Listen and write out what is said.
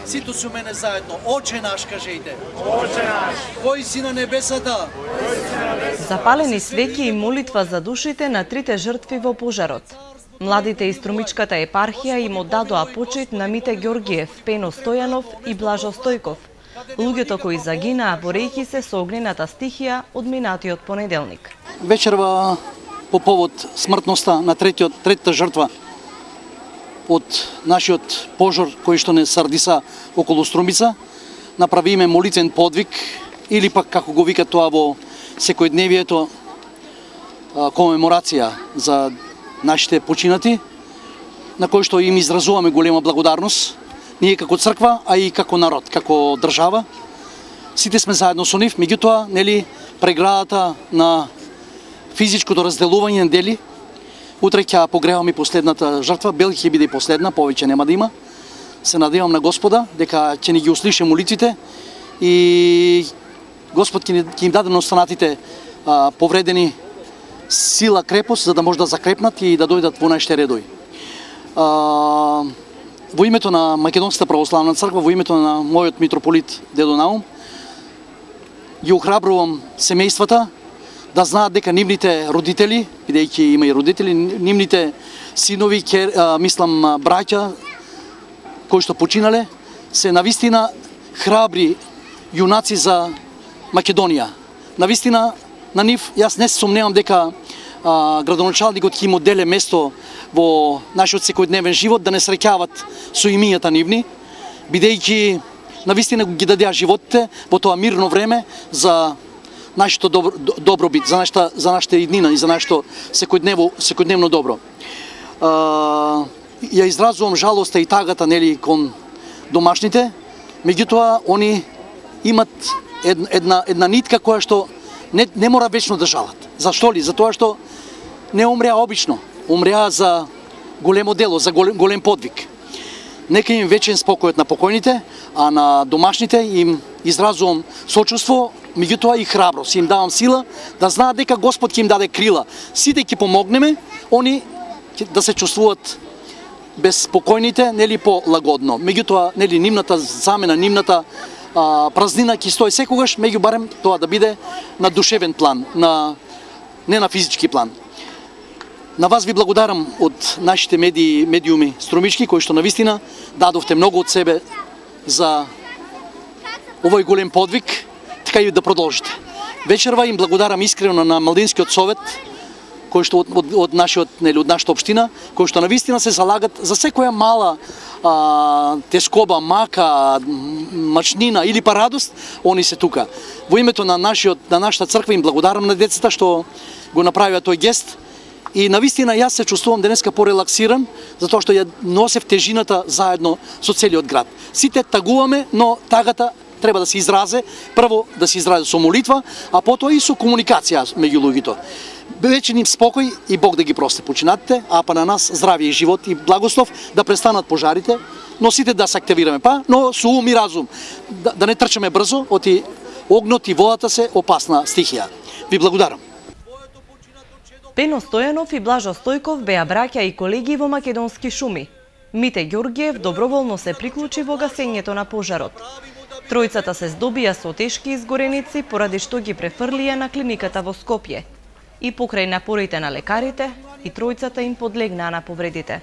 Сите со мене заедно. Оче наш, кажете. Оче наш. Кој си на небесата? Запалени свеќи и молитва за душите на трите жртви во пожарот. Младите из Струмичката епархија им оддадоа почит на Мите Ѓорѓиев, Пено Стојанов и Блажо Стојков, луѓето кои загинаа борејќи се со огнената стихија од минатиот понеделник. Вечерва по повод смртноста на третата жртва од нашиот пожар кој што не сардиса околу Струмица, направиме молитвен подвиг или пак како го вика тоа во секојдневието комеморација за нашите починати, на кој што им изразуваме голема благодарност, ние како црква, а и како народ, како држава. Сите сме заедно со нив, меѓутоа, нели, преградата на физичкото разделување на дели, утре ќе погреваме последната жртва, Белги ќе биде и последна, повеќе нема да има. Се надевам на Господа дека ќе ни ги услише молитвите и Господ ќе им даде на останатите повредени сила, крепост, за да може да закрепнат и да дојдат во нашите редови. Во името на Македонската православна црква, во името на мојот митрополит Дедо Наум, ги охрабрувам семејствата да знаат дека нивните родители, бидејќи има и родители, нивните синови, браќа кои што починале, се навистина храбри јунаци за Македонија. Навистина на нив, јас не се сомневам дека градоначалникот ќе им одделе место во нашиот секојдневен живот, да не среќават со имињата нивни, бидејќи навистина ги дадеа животите во тоа мирно време за нашето добробит, за нашата иднина и за нашето секојдневно добро. Ја изразувам жалоста и тагата, нели, кон домашните, меѓутоа они имат една нитка која што не мора вечно да жалат. Зашто ли? Затоа што не умреа обично, умреа за големо дело, за голем подвиг. Нека им вечен спокојот на покојните, а на домашните им изразувам сочувство, меѓутоа и храброст. Им давам сила да знаат дека Господ ќе им даде крила. Сите ќе помогнеме, они да се чувствуваат безпокојните, нели полагодно. Меѓутоа, нели, нивната замена, нивната празнина ќе стои секогаш, меѓу барем тоа да биде на душевен план, не на физички план. На вас ви благодарам од нашите медиуми Струмички, кои што навистина дадовте многу од себе за овој голем подвиг, така и да продолжите. Вечерва им благодарам искрено на Младинскиот совет, кој што од нашата општина, кои што навистина се залагат за секоја мала тескоба, мака, мачнина или па радост, они се тука. Во името на нашата црква им благодарам на децата што го направија тој гест. И навистина јас се чувствувам денеска порелаксиран, затоа што ја носев тежината заедно со целиот град. Сите тагуваме, но тагата треба да се изразе, прво да се изразе со молитва, а потоа и со комуникација меѓу луѓето. Вечен им спокој и Бог да ги прости починатите, а па на нас здравје и живот и благослов, да престанат пожарите, но сите да се активираме, но со ум и разум, да не трчаме брзо, оти огнот и водата се опасна стихија. Ви благодарам. Пено Стојанов и Блажо Стојков беа браќа и колеги во Македонски шуми. Мите Ѓорѓиев доброволно се приклучи во гасењето на пожарот. Тројцата се здобија со тешки изгореници поради што ги префрлија на клиниката во Скопје. И покрај напорите на лекарите, и тројцата им подлегнаа на повредите.